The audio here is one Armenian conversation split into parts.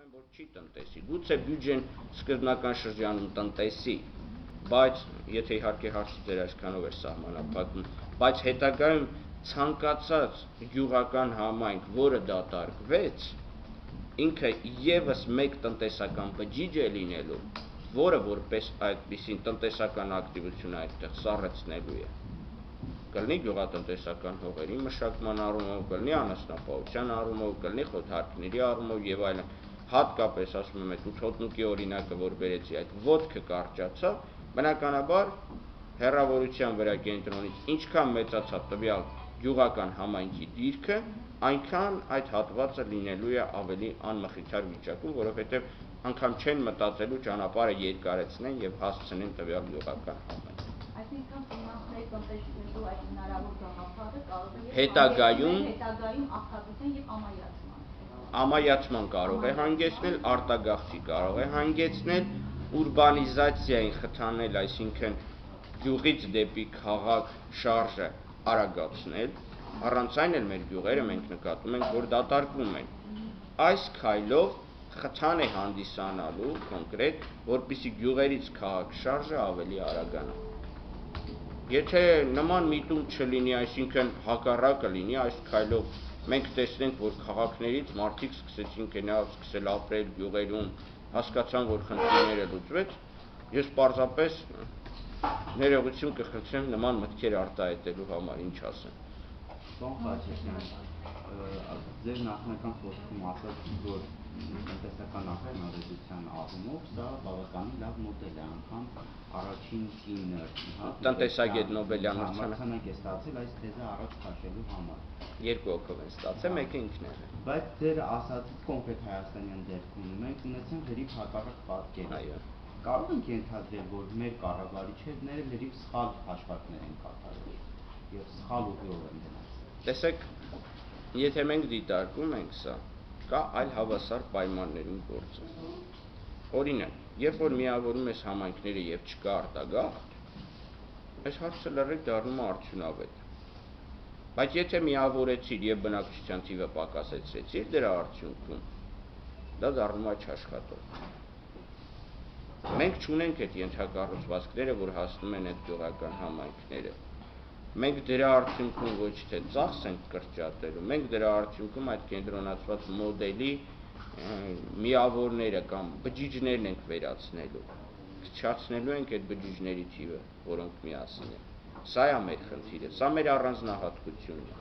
եմ, որ չի տնտեսի, գուցե բյուջեն սկզբնական շրջանում տնտեսի, բայց եթե իհարկե հարցը ձեր այսքանով էր սահմանափակվում, բայց հետագայում ցանկացած գյուղական համայնք, որը դատարկվեց, ինքը ևս մեկ տնտեսական բջիջ է լինելու, որը որպես այդպիսին տնտեսական ակտիվություն այդտեղ սառեցնելու է։ Կլինի գյուղատնտեսական հողերի մշակման առումով, կլինի անասնապահության առումով, կլինի խոթարքների առումով եւ այլն։ Հատկապես ասում եմ, այդ ութոտնուկի օրինակը, որ բերեցի, այդ ոտքը կարճացավ, բնականաբար հեռավորության վրա կենտրոնից ինչքան մեծացավ տվյալ գյուղական համայնքի դիրքը, այնքան այդ հատվածը լինելու է ավելի անմխիթար վիճակում, որովհետեւ անգամ չեն մտածելու ճանապարհը երկարեցնեն եւ հասցնեն տվյալ գյուղական համայնք։ Այսինքն ֆինանսների տնտեսությունելու այդ հնարավոր գաղափարը կարող է հետագայում արտադրության եւ ամայացման կարող է հանգեցնել, արտագաղթի կարող է հանգեցնել, ուրբանիզացիային խթանել, այսինքն գյուղից դեպի քաղաք շարժը արագացնել, առանց այն էլ մեր գյուղերը մենք նկատում ենք, որ դատարկվում են։ Այս քայլով խթան է հանդիսանալու կոնկրետ, որպեսզի գյուղերից քաղաք շարժը ավելի արագանա։ Եթե նման միտում չլինի, այսինքն հակառակը լինի, այս քայլով մենք տեսնենք, որ քաղաքներից մարդիկ սկսել ապրել գյուղերում, հասկացան, որ խնդիրները լուծվեց, ես պարզապես ներողություն կխնդրեմ նման մտքեր արտահայտելու համար, ինչ ասեմ։ Ձեր նախնական խոսքում ասաց, որ տնտեսական ակնհայտության առումով սա բավականին լավ մոդել է, անգամ առաջին կինը տնտեսագետ Նոբելյան մրցանակ է ստացել այս թեզը առաջ քաշելու համար։ Երկու հոգով են ստացել, մեկը ինքն է։ Բայց ձեր ասածից կոնկրետ հայաստանյան դեպքում մենք ունեցանք լրիվ հակառակ պատկեր։ Այո։ Կարող ենք ենթադրել, որ մեր կառավարիչները լրիվ սխալ հաշվարկներ են կատարել եւ սխալ ուղիով են գնացել։ Տեսեք, եթե մենք դիտարկում ենք սա, կա այլ հավասար պայմաններում գործը։ Օրինակ, երբ որ միավորում ես համայնքները եւ չկա արտագաղթ, այս հարցը լրիվ դառնում է արդյունավետ։ Բայց եթե միավորեցիր եւ բնակչության թիվը պակասեցրեցիր, դրա արդյունքում դա դառնում է չաշխատող։ Մենք չունենք այդ ենթակառուցվածքները, որ հասնում են այդ գյուղական համայնքները։ Մենք դրա արդյունքում ոչ թե ծախս ենք կրճատելու, մենք դրա արդյունքում այդ կենտրոնացված մոդելի միավորները կամ բջիջներն ենք վերացնելու, քչացնելու ենք այդ բջիջների թիվը, որոնք միասին են։ Սա է մեր խնդիրը, սա մեր առանձնահատկությունն է։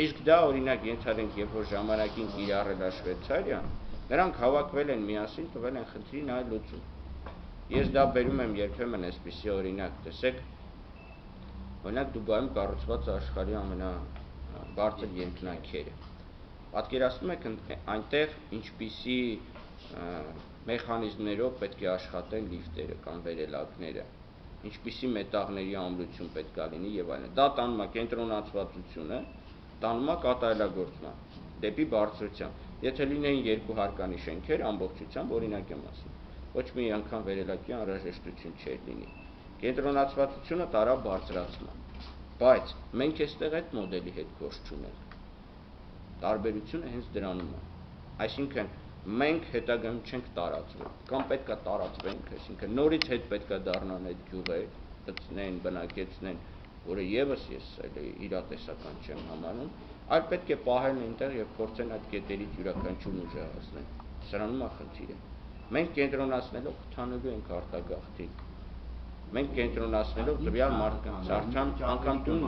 Իսկ դա օրինակ ենթադրենք, երբ որ ժամանակին կիրառել է Շվեյցարիան, նրանք հավաքվել են միասին, տվել են խնդրին այլ լուծում։ Ես դա բերում եմ երբեմն այսպիսի օրինակ, տեսեք, օրինակ Դուբայում կառուցված աշխարհի ամենաբարձր երկնաքերը։ Պատկերացնում եք այնտեղ ինչպիսի մեխանիզմներով պետք է աշխատեն լիֆտերը կամ վերելակները, ինչպիսի մետաղների ամրություն պետք է լինի եւ այլն։ Դա տանում է կենտրոնացվածությունը, տանում է կատարելագործման դեպի բարձրության։ Եթե լինեին երկու հարկանի շենքեր, ամբողջությամբ օրինակ եմ ասում, ոչ մի անգամ վերելակի անհրաժեշտություն չէր լինի։ Կենտրոնացվածությունը տարա բարձրացման, բայց մենք այստեղ այդ մոդելի հետ գործ չունենք։ Տարբերությունը հենց դրանում է։ Այսինքն մենք հետագայում չենք տարածվել, կամ պետքա տարածվենք, այսինքն նորից հետ պետքա դառնան այդ գյուղեր, գտնեն, բնակեցնեն, որը եւս ես իրատեսական չեմ համարում, այլ պետք է պահեն այնտեղ եւ փորձեն այդ կետերից յուրաքանչյուրն ուժեղացնել։ Սրանում է խնդիրը։ Մենք կենտրոնացնելով խթանելու ենք արտագաղթին։ Մենք կենտրոնացնելով տվյալ մարդկանց արդեն անգամ տուն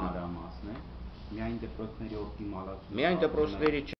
միայն դպրոցների օպտիմալացումը։ Միայն դպրոցների